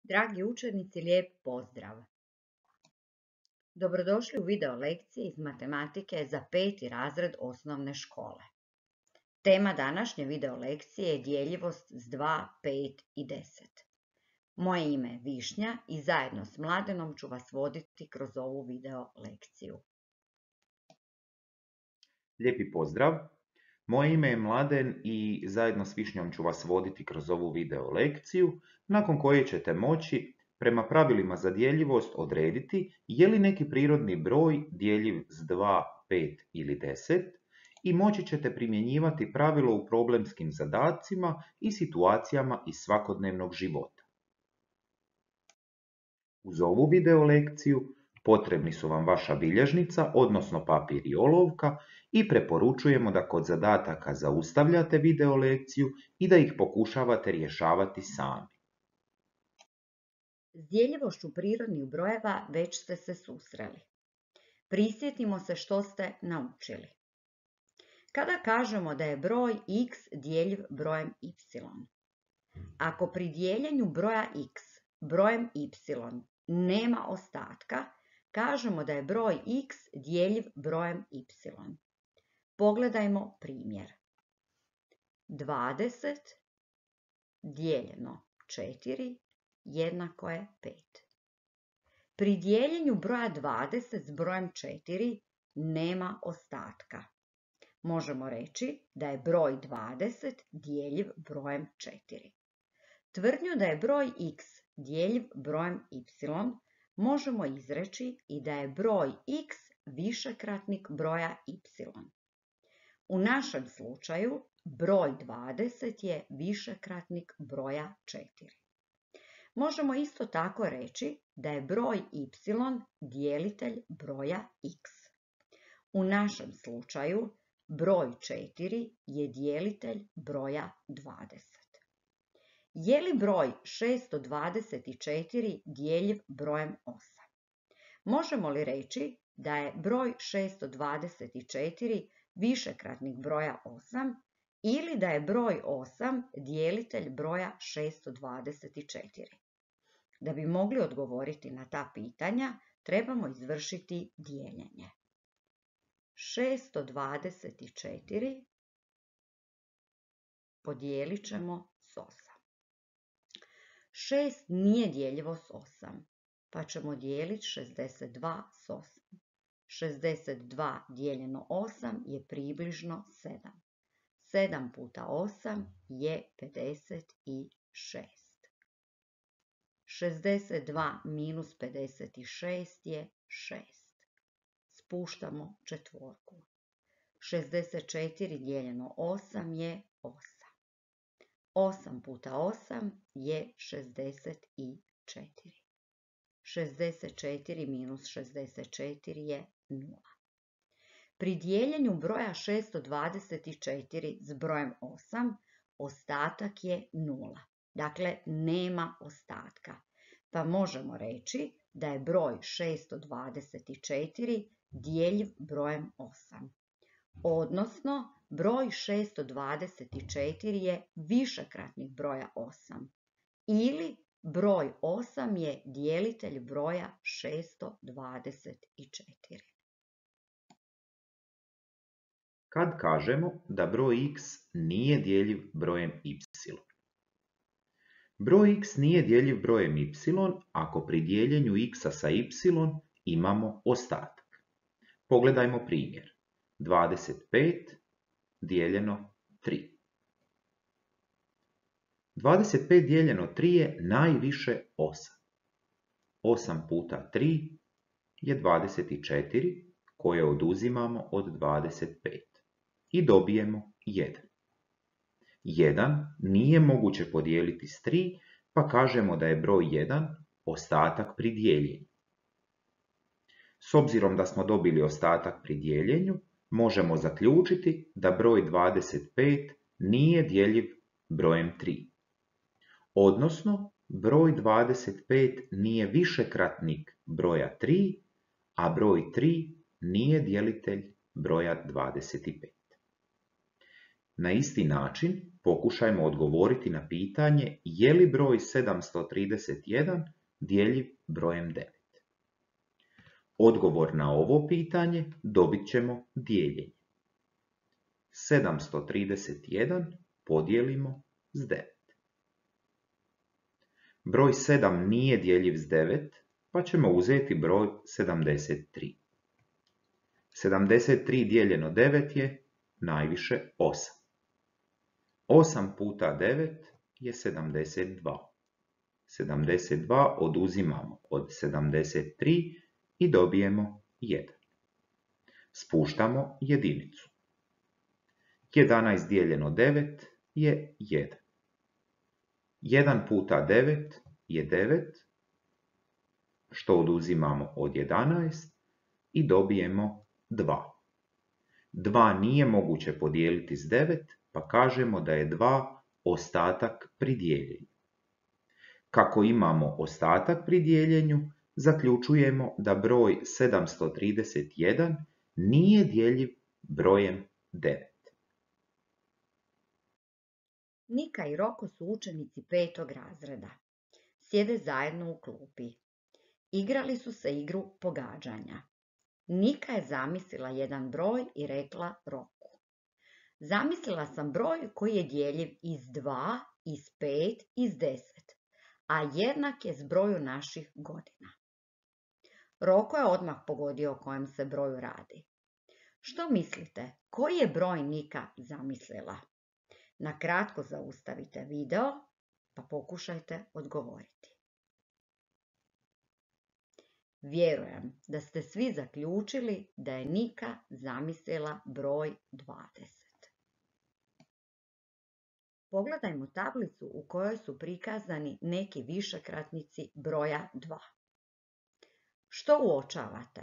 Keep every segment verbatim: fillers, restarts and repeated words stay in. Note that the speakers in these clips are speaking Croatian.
Dragi učenici, lijep pozdrav! Dobrodošli u video lekcije iz matematike za peti razred osnovne škole. Tema današnje video lekcije je djeljivost s dva, pet i deset. Moje ime je Višnja i zajedno s Mladenom ću vas voditi kroz ovu video lekciju. Lijepi pozdrav! Moje ime je Mladen i zajedno s Višnjom ću vas voditi kroz ovu video lekciju, nakon koje ćete moći prema pravilima za djeljivost odrediti je li neki prirodni broj djeljiv s dva, pet ili deset i moći ćete primjenjivati pravilo u problemskim zadacima i situacijama iz svakodnevnog života. Uz ovu video lekciju potrebni su vam vaša bilježnica, odnosno papir i olovka, i preporučujemo da kod zadataka zaustavljate video lekciju i da ih pokušavate rješavati sami. S djeljivošću prirodnih brojeva već ste se susreli. Prisjetimo se što ste naučili. Kada kažemo da je broj x djeljiv brojem y, ako pri dijeljenju broja x brojem y nema ostatka, kažemo da je broj x djeljiv brojem y. Pogledajmo primjer. dvadeset dijeljeno četiri jednako je pet. Pri dijeljenju broja dvadeset s brojem četiri nema ostatka. Možemo reći da je broj dvadeset djeljiv brojem četiri. Tvrdnju da je broj x djeljiv brojem y možemo izreći i da je broj x višekratnik broja y. U našem slučaju broj dvadeset je višekratnik broja četiri. Možemo isto tako reći da je broj y djelitelj broja x. U našem slučaju broj četiri je djelitelj broja dvadeset. Je li broj šesto dvadeset četiri djeljiv brojem osam? Možemo li reći da je broj šesto dvadeset četiri višekratnik broja osam ili da je broj osam djelitelj broja šesto dvadeset četiri? Da bi mogli odgovoriti na ta pitanja, trebamo izvršiti dijeljenje. šesto dvadeset četiri podijelit ćemo s osam. šest nije djeljivo s osam, pa ćemo dijeliti šezdeset dva s osam. šezdeset dva dijeljeno osam je približno sedam. sedam puta osam je pedeset šest. šezdeset dva minus pedeset šest je šest. Spuštamo četvorku. šezdeset četiri dijeljeno osam je osam. osam puta osam je šezdeset četiri. šezdeset četiri minus šezdeset četiri je nula. Pri dijeljenju broja šesto dvadeset četiri s brojem osam, ostatak je nula. Dakle, nema ostatka. Pa možemo reći da je broj šesto dvadeset četiri djeljiv brojem osam. Odnosno, broj šesto dvadeset četiri je višekratnik broja osam. Ili broj osam je djelitelj broja šesto dvadeset četiri. Kad kažemo da broj x nije djeljiv brojem y? Broj x nije djeljiv brojem y ako pri dijeljenju x sa y imamo ostatak. Pogledajmo primjer. dvadeset pet dijeljeno tri. dvadeset pet dijeljeno tri je najviše osam. osam puta tri je dvadeset četiri koje oduzimamo od dvadeset pet i dobijemo jedan. jedan nije moguće podijeliti s tri, pa kažemo da je broj jedan ostatak pri dijeljenju. S obzirom da smo dobili ostatak pri dijeljenju, možemo zaključiti da broj dvadeset pet nije djeljiv brojem tri. Odnosno, broj dvadeset pet nije višekratnik broja tri, a broj tri nije djelitelj broja dvadeset pet. Na isti način pokušajmo odgovoriti na pitanje je li broj sedamsto trideset jedan djeljiv brojem devet. Odgovor na ovo pitanje dobit ćemo dijeljenjem. sedamsto trideset jedan podijelimo s devet. Broj sedam nije djeljiv s devet, pa ćemo uzeti broj sedamdeset tri. sedamdeset tri dijeljeno devet je najviše osam. osam puta devet je sedamdeset dva. sedamdeset dva oduzimamo od sedamdeset tri i dobijemo jedan. Spuštamo jedinicu. jedanaest dijeljeno devet je jedan. jedan puta devet je devet, što oduzimamo od jedanaest i dobijemo dva. dva nije moguće podijeliti s devet, pa kažemo da je dva ostatak pri dijeljenju. Kako imamo ostatak pri dijeljenju, zaključujemo da broj sedamsto trideset jedan nije djeljiv brojem devet. Nika i Roko su učenici petog razreda. Sjede zajedno u klupi. Igrali su se igru pogađanja. Nika je zamislila jedan broj i rekla Roku: zamislila sam broj koji je djeljiv iz dva, iz pet, iz deset, a jednak je zbroju naših godina. Roko je odmah pogodio o kojem se broju radi. Što mislite, koji je broj Nika zamislila? Na kratko zaustavite video pa pokušajte odgovoriti. Vjerujem da ste svi zaključili da je Nika zamislila broj dvadeset. Pogledajmo tablicu u kojoj su prikazani neki višekratnici broja dva. Što uočavate?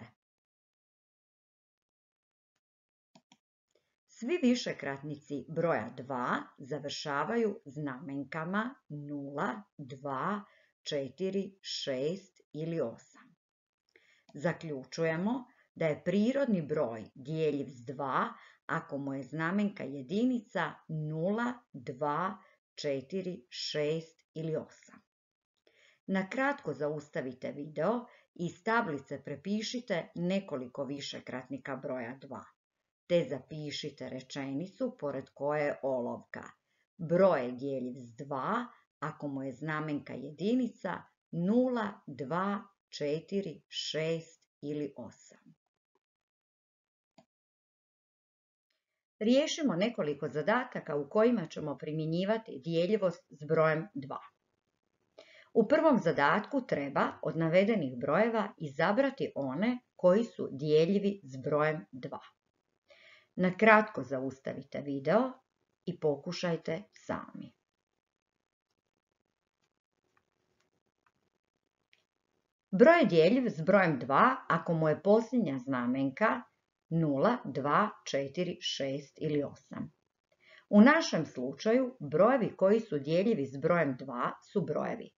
Svi višekratnici broja dva završavaju znamenkama nula, dva, četiri, šest ili osam. Zaključujemo da je prirodni broj djeljiv s dva ako mu je znamenka jedinica nula, dva, četiri, šest ili osam. Na kratko zaustavite video i iz tablice prepišite nekoliko višekratnika broja dva, te zapišite rečenicu pored koje je olovka. Broj je djeljiv s dva ako mu je znamenka jedinica nula, dva, četiri, šest ili osam. Riješimo nekoliko zadataka u kojima ćemo primjenjivati djeljivost s brojem dva. U prvom zadatku treba od navedenih brojeva izabrati one koji su djeljivi s brojem dva. Na kratko zaustavite video i pokušajte sami. Broj je djeljiv s brojem dva ako mu je posljednja znamenka nula, dva, četiri, šest ili osam. U našem slučaju brojevi koji su djeljivi s brojem dva su brojevi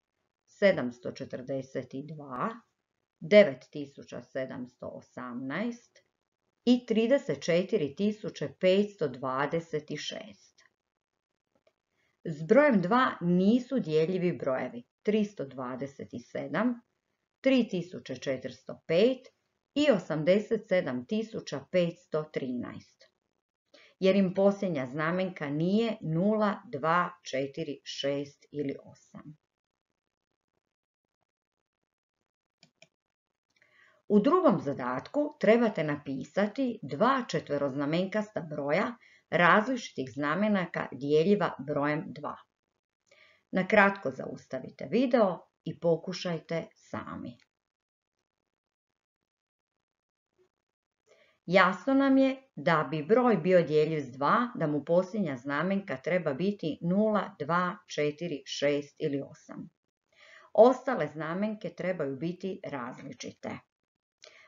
sedamsto četrdeset dva, devet tisuća sedamsto osamnaest i trideset četiri tisuće petsto dvadeset šest. S brojem dva nisu djeljivi brojevi tristo dvadeset sedam, tri tisuće četiristo pet i osamdeset sedam tisuća petsto trinaest, jer im posljednja znamenka nije nula, dva, četiri, šest ili osam. U drugom zadatku trebate napisati dva četveroznamenkasta broja različitih znamenaka djeljiva brojem dva. Na kratko zaustavite video i pokušajte sami. Jasno nam je da bi broj bio djeljiv s dva, da mu posljednja znamenka treba biti nula, dva, četiri, šest ili osam. Ostale znamenke trebaju biti različite.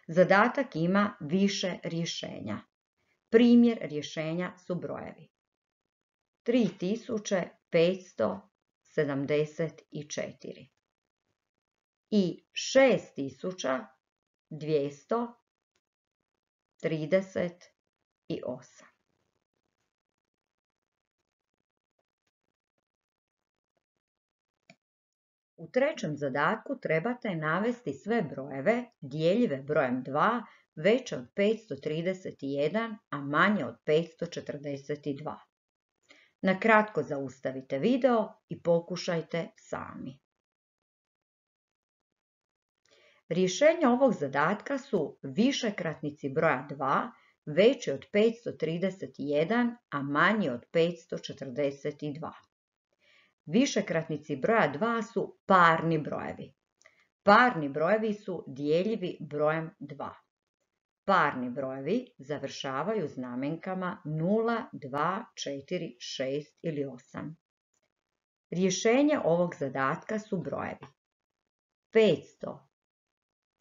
Zadatak ima više rješenja. Primjer rješenja su brojevi tri tisuće petsto sedamdeset četiri i šest tisuća dvjesto trideset osam. U trećem zadatku trebate navesti sve brojeve dijeljive brojem dva veće od petsto trideset jedan, a manje od petsto četrdeset dva. Na kratko zaustavite video i pokušajte sami. Rješenja ovog zadatka su višekratnici broja dva veći od petsto trideset jedan, a manji od petsto četrdeset dva. Višekratnici broja dva su parni brojevi. Parni brojevi su dijeljivi brojem dva. Parni brojevi završavaju znamenkama nula, dva, četiri, šest ili osam. Rješenje ovog zadatka su brojevi petsto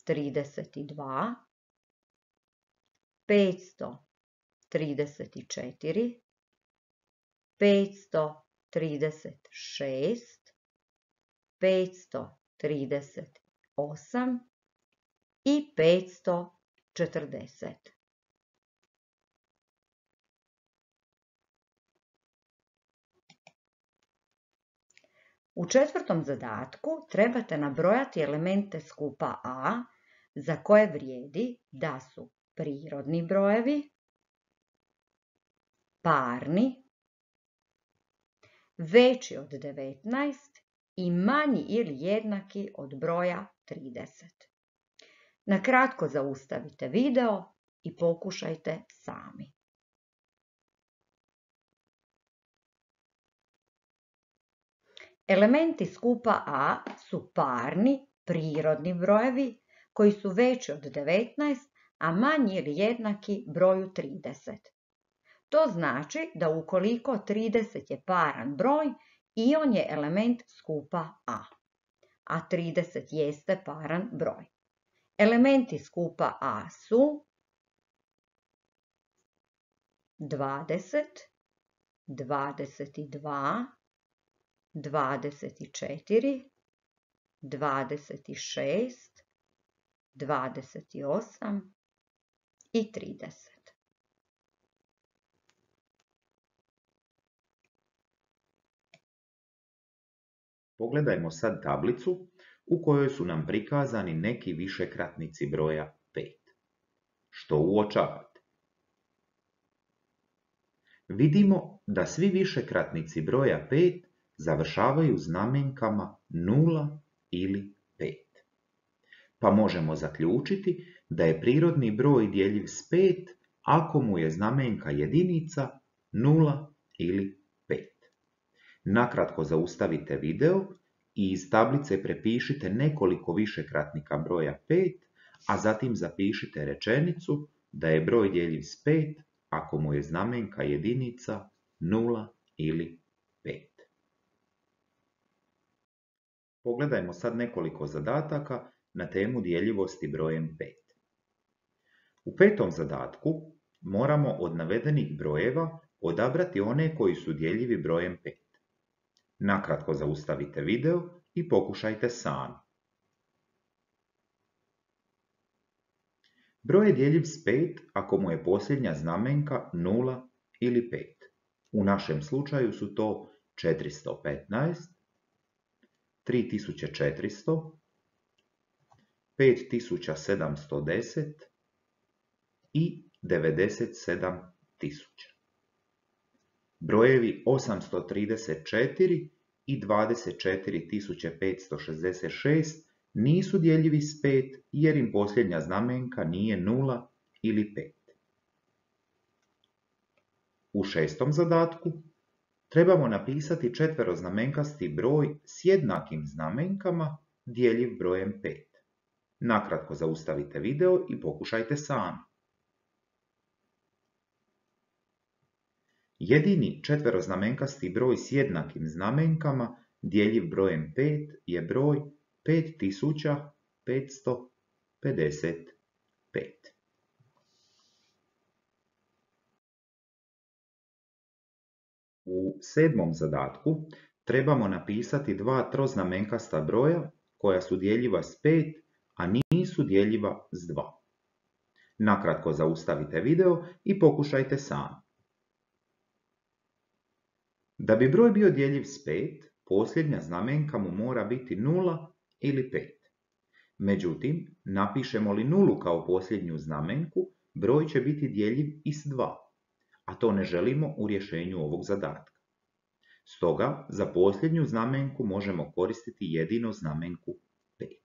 trideset dva, petsto trideset četiri, petsto trideset šest, petsto trideset osam i petsto četrdeset. U četvrtom zadatku trebate nabrojati elemente skupa A za koje vrijedi da su prirodni brojevi, parni, veći od devetnaest i manji ili jednaki od broja trideset. Na kratko zaustavite video i pokušajte sami. Elementi skupa A su parni, prirodni brojevi koji su veći od devetnaest, a manji ili jednaki broju trideset. To znači da ukoliko trideset je paran broj, i on je element skupa A, a trideset jeste paran broj. Elementi skupa A su dvadeset, dvadeset dva, dvadeset četiri, dvadeset šest, dvadeset osam i trideset. Pogledajmo sad tablicu u kojoj su nam prikazani neki višekratnici broja pet. Što uočavate? Vidimo da svi višekratnici broja pet završavaju znamenkama nula ili pet. Pa možemo zaključiti da je prirodni broj djeljiv s pet ako mu je znamenka jedinica nula ili pet. Nakratko zaustavite video i iz tablice prepišite nekoliko višekratnika broja pet, a zatim zapišite rečenicu da je broj djeljiv s pet ako mu je znamenka jedinica nula ili pet. Pogledajmo sad nekoliko zadataka na temu djeljivosti brojem pet. U petom zadatku moramo od navedenih brojeva odabrati one koji su djeljivi brojem pet. Nakratko zaustavite video i pokušajte sami. Broj je djeljiv s pet ako mu je posljednja znamenka nula ili pet. U našem slučaju su to četiristo petnaest, tri tisuće četiristo, pet tisuća sedamsto deset i devedeset sedam tisuća. Brojevi osamsto trideset četiri i dvadeset četiri tisuće petsto šezdeset šest nisu djeljivi s pet jer im posljednja znamenka nije nula ili pet. U šestom zadatku trebamo napisati četveroznamenkasti broj s jednakim znamenkama djeljiv brojem pet. Nakratko zaustavite video i pokušajte sami. Jedini četveroznamenkasti broj s jednakim znamenkama djeljiv brojem pet je broj pet tisuća petsto pedeset pet. U sedmom zadatku trebamo napisati dva troznamenkasta broja koja su djeljiva s pet, a nisu djeljiva s dva. Nakratko zaustavite video i pokušajte sami. Da bi broj bio djeljiv s pet, posljednja znamenka mu mora biti nula ili pet. Međutim, napišemo li nulu kao posljednju znamenku, broj će biti djeljiv i s dva, a to ne želimo u rješenju ovog zadatka. Stoga, za posljednju znamenku možemo koristiti jedino znamenku pet.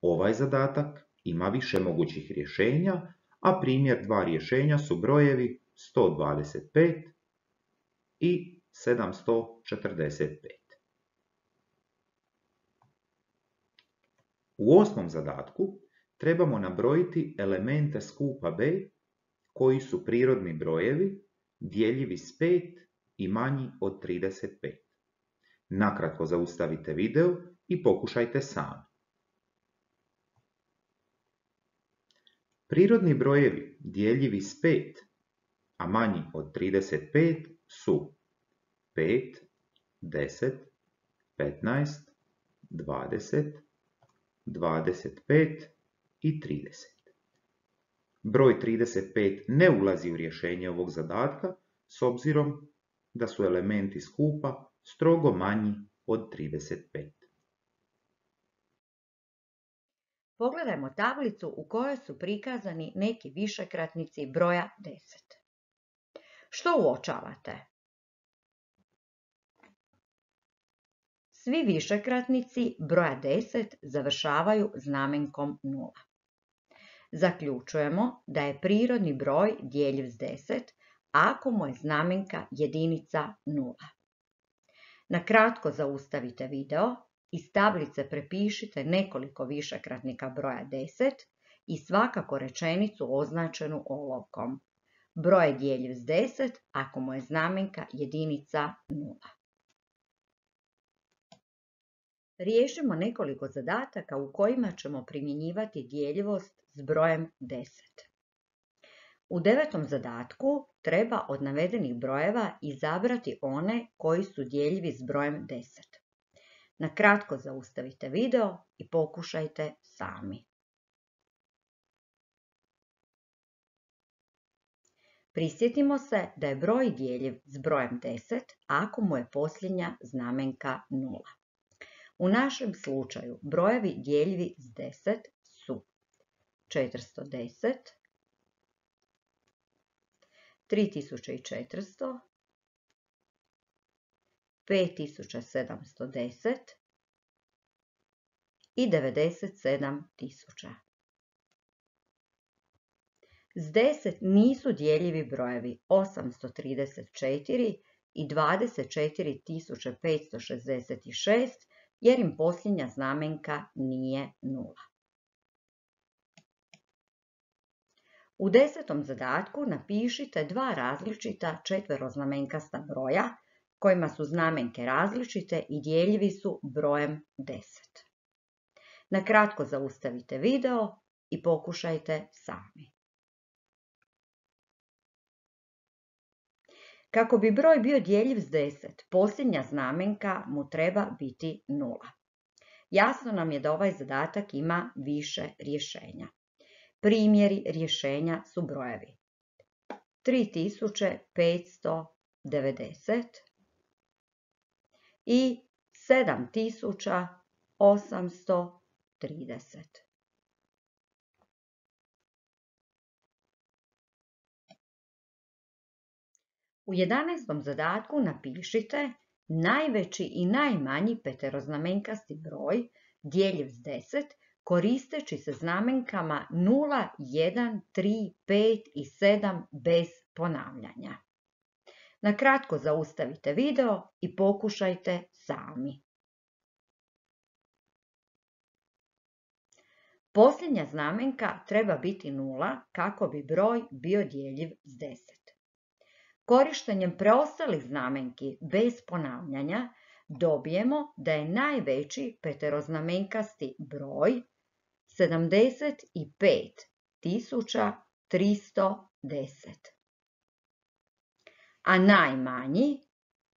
Ovaj zadatak ima više mogućih rješenja, a primjer dva rješenja su brojevi sto dvadeset pet i sedamsto četrdeset pet. U osmom zadatku trebamo nabrojiti elemente skupa B koji su prirodni brojevi, djeljivi s pet i manji od trideset pet. Nakratko zaustavite video i pokušajte sami. Prirodni brojevi djeljivi s pet, a manji od trideset pet su pet, deset, petnaest, dvadeset, dvadeset pet i trideset. Broj trideset pet ne ulazi u rješenje ovog zadatka s obzirom da su elementi skupa strogo manji od trideset pet. Pogledajmo tablicu u kojoj su prikazani neki višekratnici broja deset. Što uočavate? Svi višekratnici broja deset završavaju znamenkom nula. Zaključujemo da je prirodni broj djeljiv s deset ako mu je znamenka jedinica nula. Na kratko zaustavite video, iz tablice prepišite nekoliko višekratnika broja deset i svakako rečenicu označenu olovkom. Broj je djeljiv s deset ako mu je znamenka jedinica nula. Riješimo nekoliko zadataka u kojima ćemo primjenjivati djeljivost s brojem deset. U devetom zadatku treba od navedenih brojeva izabrati one koji su djeljivi s brojem deset. Na kratko zaustavite video i pokušajte sami. Prisjetimo se da je broj djeljiv s brojem deset ako mu je posljednja znamenka nula. U našem slučaju brojevi djeljivi s deset su četiristo deset, tri tisuće četiristo, pet tisuća sedamsto deset i devedeset sedam tisuća. S deset nisu djeljivi brojevi osamsto trideset četiri i dvadeset četiri tisuće petsto šezdeset šest jer im posljednja znamenka nije nula. U desetom zadatku napišite dva različita četveroznamenkasta broja kojima su znamenke različite i djeljivi su brojem deset. Na kratko zaustavite video i pokušajte sami. Kako bi broj bio djeljiv s deset, posljednja znamenka mu treba biti nula. Jasno nam je da ovaj zadatak ima više rješenja. Primjeri rješenja su brojevi tri tisuće petsto devedeset i sedam tisuća osamsto trideset. U jedanaestom zadatku napišite najveći i najmanji peteroznamenkasti broj djeljiv s deset koristeći se znamenkama nula, jedan, tri, pet i sedam bez ponavljanja. Na kratko zaustavite video i pokušajte sami. Posljednja znamenka treba biti nula kako bi broj bio djeljiv s deset. Korištenjem preostalih znamenki bez ponavljanja dobijemo da je najveći peteroznamenkasti broj sedamdeset pet tisuća tristo deset, a najmanji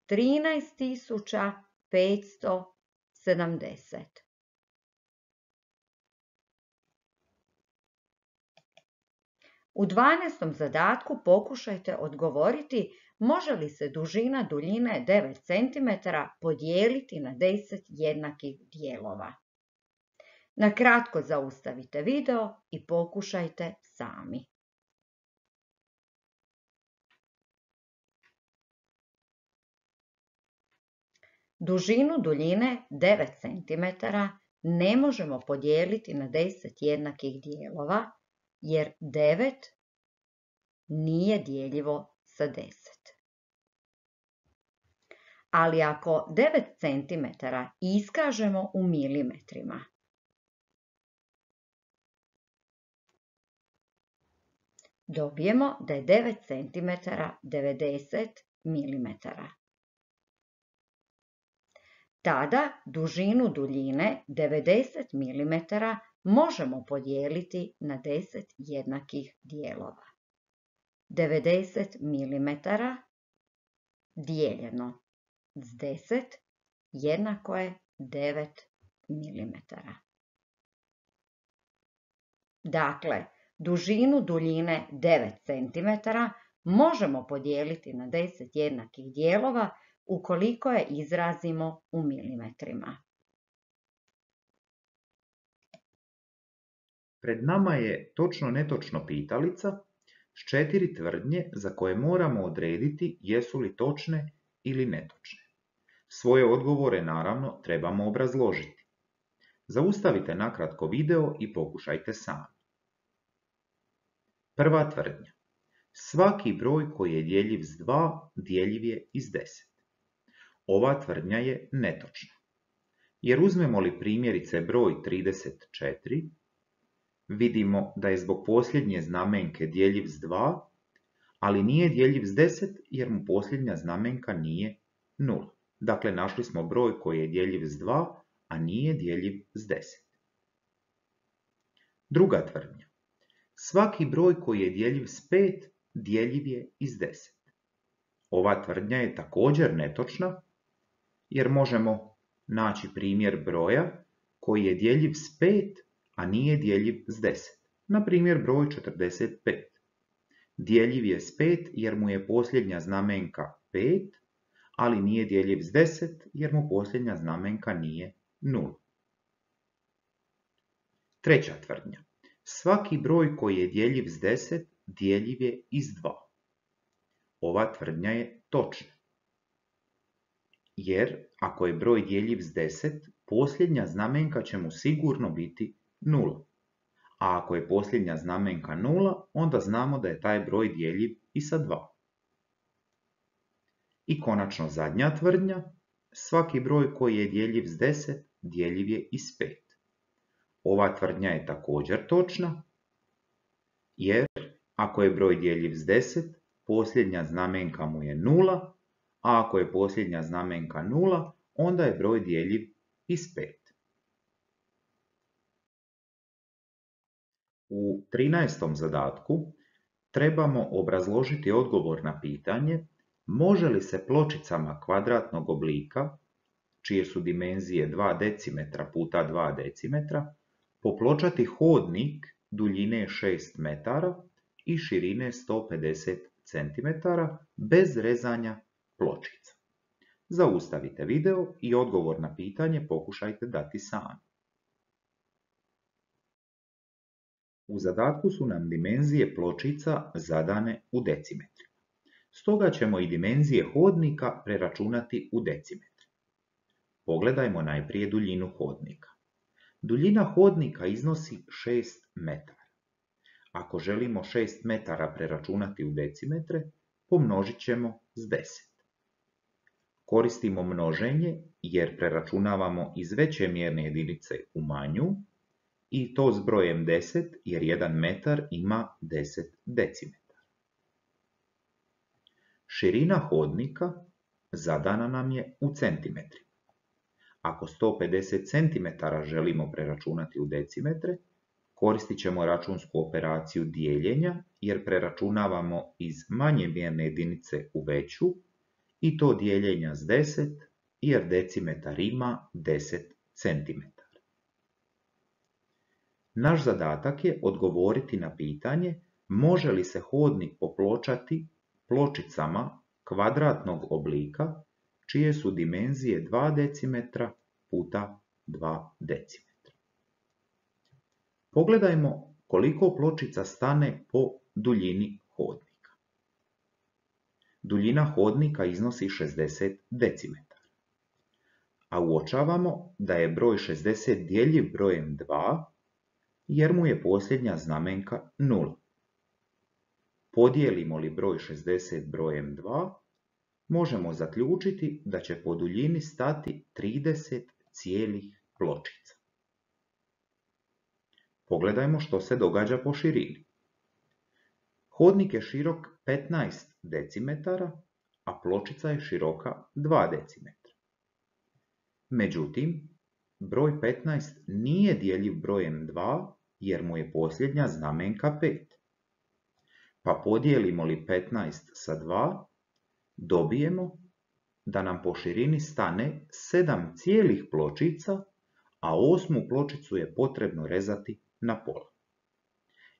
trinaest tisuća petsto sedamdeset. U dvanaestom zadatku pokušajte odgovoriti može li se dužina duljine devet centimetara podijeliti na deset jednakih dijelova. Na kratko zaustavite video i pokušajte sami. Dužinu duljine devet centimetara ne možemo podijeliti na deset jednakih dijelova, jer devet nije dijeljivo sa deset. Ali ako devet centimetara iskažemo u milimetrima, dobijemo da je devet centimetara devedeset milimetara. Tada dužinu duljine devedeset milimetara možemo podijeliti na deset jednakih dijelova. devedeset milimetara dijeljeno s deset jednako je devet milimetara. Dakle, dužinu duljine devet centimetara možemo podijeliti na deset jednakih dijelova ukoliko je izrazimo u milimetrima. Pred nama je točno-netočno pitalica s četiri tvrdnje za koje moramo odrediti jesu li točne ili netočne. Svoje odgovore naravno trebamo obrazložiti. Zaustavite nakratko video i pokušajte sami. Prva tvrdnja. Svaki broj koji je djeljiv s dva, djeljiv je i s deset. Ova tvrdnja je netočna. Jer uzmemo li primjerice broj trideset četiri, vidimo da je zbog posljednje znamenke djeljiv s dva, ali nije djeljiv s deset jer mu posljednja znamenka nije nula. Dakle, našli smo broj koji je djeljiv s dva, a nije djeljiv s deset. Druga tvrdnja. Svaki broj koji je djeljiv s pet, djeljiv je i s deset. Ova tvrdnja je također netočna, jer možemo naći primjer broja koji je djeljiv s pet, a nije djeljiv s deset. Na primjer broj četrdeset pet. Djeljiv je s pet jer mu je posljednja znamenka pet, ali nije djeljiv s deset jer mu posljednja znamenka nije nula. Treća tvrdnja. Svaki broj koji je djeljiv s deset, djeljiv je i s dva. Ova tvrdnja je točna. Jer ako je broj djeljiv s deset, posljednja znamenka će mu sigurno biti nula. A ako je posljednja znamenka nula, onda znamo da je taj broj djeljiv i sa dva. I konačno zadnja tvrdnja. Svaki broj koji je djeljiv s deset, djeljiv je i s pet. Ova tvrdnja je također točna, jer ako je broj djeljiv s deset, posljednja znamenka mu je nula, a ako je posljednja znamenka nula, onda je broj djeljiv i s pet. U trinaestom zadatku trebamo obrazložiti odgovor na pitanje može li se pločicama kvadratnog oblika, čije su dimenzije dva decimetra puta dva decimetra, popločati hodnik duljine šest metara i širine sto pedeset centimetara bez rezanja pločica. Zaustavite video i odgovor na pitanje pokušajte dati sami. U zadatku su nam dimenzije pločica zadane u decimetrima. Stoga ćemo i dimenzije hodnika preračunati u decimetre. Pogledajmo najprije duljinu hodnika. Duljina hodnika iznosi šest metara. Ako želimo šest metara preračunati u decimetre, pomnožit ćemo s deset. Koristimo množenje jer preračunavamo iz veće mjerne jedinice u manju i to s brojem deset jer jedan metar ima deset decimetara. Širina hodnika zadana nam je u centimetrima. Ako sto pedeset centimetara želimo preračunati u decimetre, koristit ćemo računsku operaciju dijeljenja jer preračunavamo iz manje mjerne jedinice u veću i to dijeljenja s deset jer decimetar ima deset centimetara. Naš zadatak je odgovoriti na pitanje može li se hodnik popločati pločicama kvadratnog oblika čije su dimenzije dva decimetra puta dva decimetra. Pogledajmo koliko pločica stane po duljini hodnika. Duljina hodnika iznosi šezdeset decimetara, a uočavamo da je broj šezdeset djeljiv brojem dva jer mu je posljednja znamenka nula. Podijelimo li broj šezdeset brojem dva, možemo zaključiti da će po duljini stati trideset cijelih pločica. Pogledajmo što se događa po širini. Hodnik je širok petnaest decimetara, a pločica je široka dva decimetra. Međutim, broj petnaest nije djeljiv brojem dva jer mu je posljednja znamenka pet. Pa podijelimo li petnaest sa dva, dobijemo da nam po širini stane sedam cijelih pločica, a osmu pločicu je potrebno rezati na pola.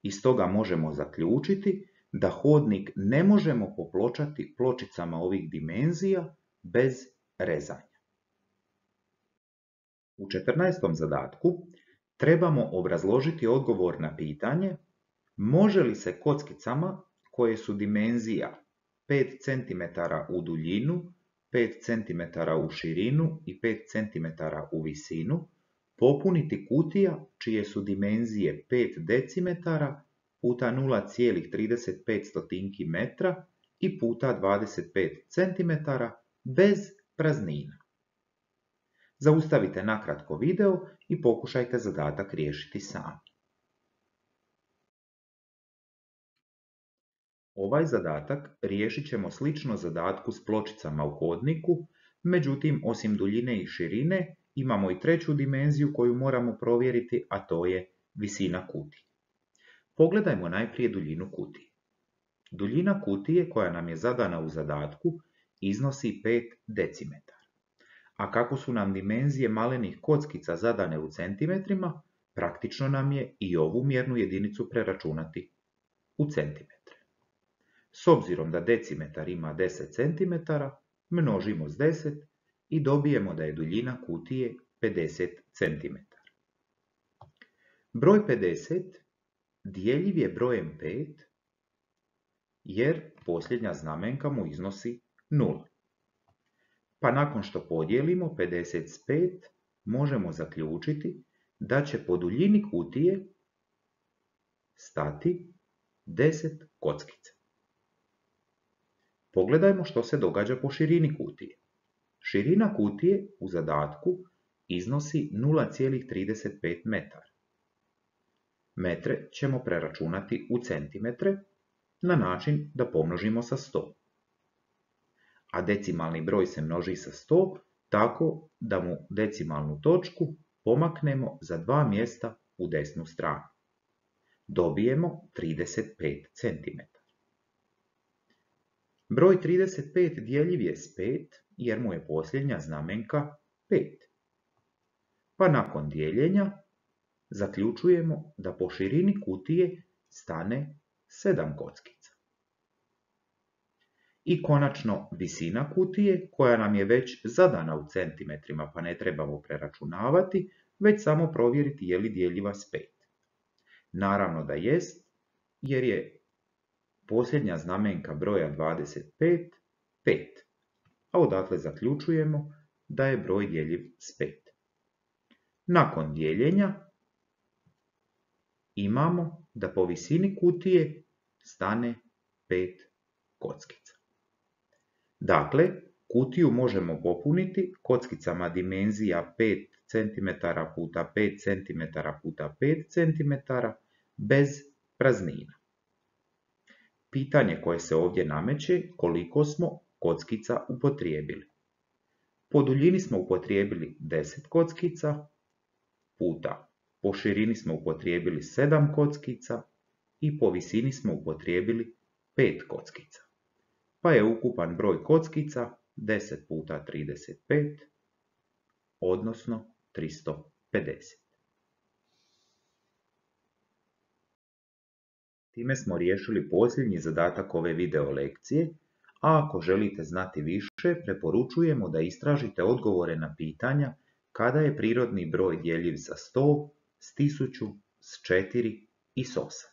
Iz toga možemo zaključiti da hodnik ne možemo popločati pločicama ovih dimenzija bez rezanja. U četrnaestom zadatku trebamo obrazložiti odgovor na pitanje može li se kockicama koje su dimenzija pet centimetara u duljinu, pet centimetara u širinu i pet centimetara u visinu popuniti kutija čije su dimenzije pet decimetara puta nula zarez trideset pet metra i puta dvadeset pet centimetara bez praznina. Zaustavite nakratko video i pokušajte zadatak riješiti sami. Ovaj zadatak riješit ćemo slično zadatku s pločicama u hodniku, međutim osim duljine i širine imamo i treću dimenziju koju moramo provjeriti, a to je visina kutije. Pogledajmo najprije duljinu kutije. Duljina kutije koja nam je zadana u zadatku iznosi pet decimetara. A kako su nam dimenzije malenih kockica zadane u centimetrima, praktično nam je i ovu mjernu jedinicu preračunati u centimetre. S obzirom da decimetar ima deset centimetara, množimo s deset i dobijemo da je duljina kutije pedeset centimetara. Broj pedeset dijeljiv je brojem pet jer posljednja znamenka mu iznosi nula. Pa nakon što podijelimo pedeset s pet, možemo zaključiti da će po duljini kutije stati deset kockica. Pogledajmo što se događa po širini kutije. Širina kutije u zadatku iznosi nula zarez trideset pet metara. Metre ćemo preračunati u centimetre na način da pomnožimo sa sto. A decimalni broj se množi sa sto tako da mu decimalnu točku pomaknemo za dva mjesta u desnu stranu. Dobijemo trideset pet centimetara. Broj trideset pet dijeljiv je s pet jer mu je posljednja znamenka pet. Pa nakon dijeljenja zaključujemo da po širini kutije stane sedam kockica. I konačno visina kutije koja nam je već zadana u centimetrima pa ne trebamo preračunavati, već samo provjeriti je li dijeljiva s pet. Naravno da jest jer je posljednja znamenka broja dvadeset pet, pet, a odatle zaključujemo da je broj djeljiv s pet. Nakon dijeljenja imamo da po visini kutije stane pet kockica. Dakle, kutiju možemo popuniti kockicama dimenzija pet centimetara puta pet centimetara puta pet centimetara bez praznina. Pitanje koje se ovdje nameće koliko smo kockica upotrijebili. Po duljini smo upotrijebili deset kockica, puta po širini smo upotrijebili sedam kockica i po visini smo upotrijebili pet kockica. Pa je ukupan broj kockica deset puta trideset pet, odnosno tristo pedeset. Time smo riješili posljednji zadatak ove video lekcije, a ako želite znati više, preporučujemo da istražite odgovore na pitanja kada je prirodni broj djeljiv sa sto, s tisuću, s četiri i s osam.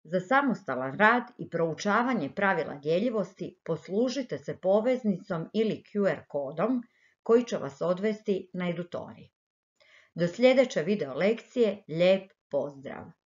Za samostalan rad i proučavanje pravila djeljivosti poslužite se poveznicom ili Q R kodom koji će vas odvesti na edutorij. Do sljedeće video lekcije, lijep pozdrav!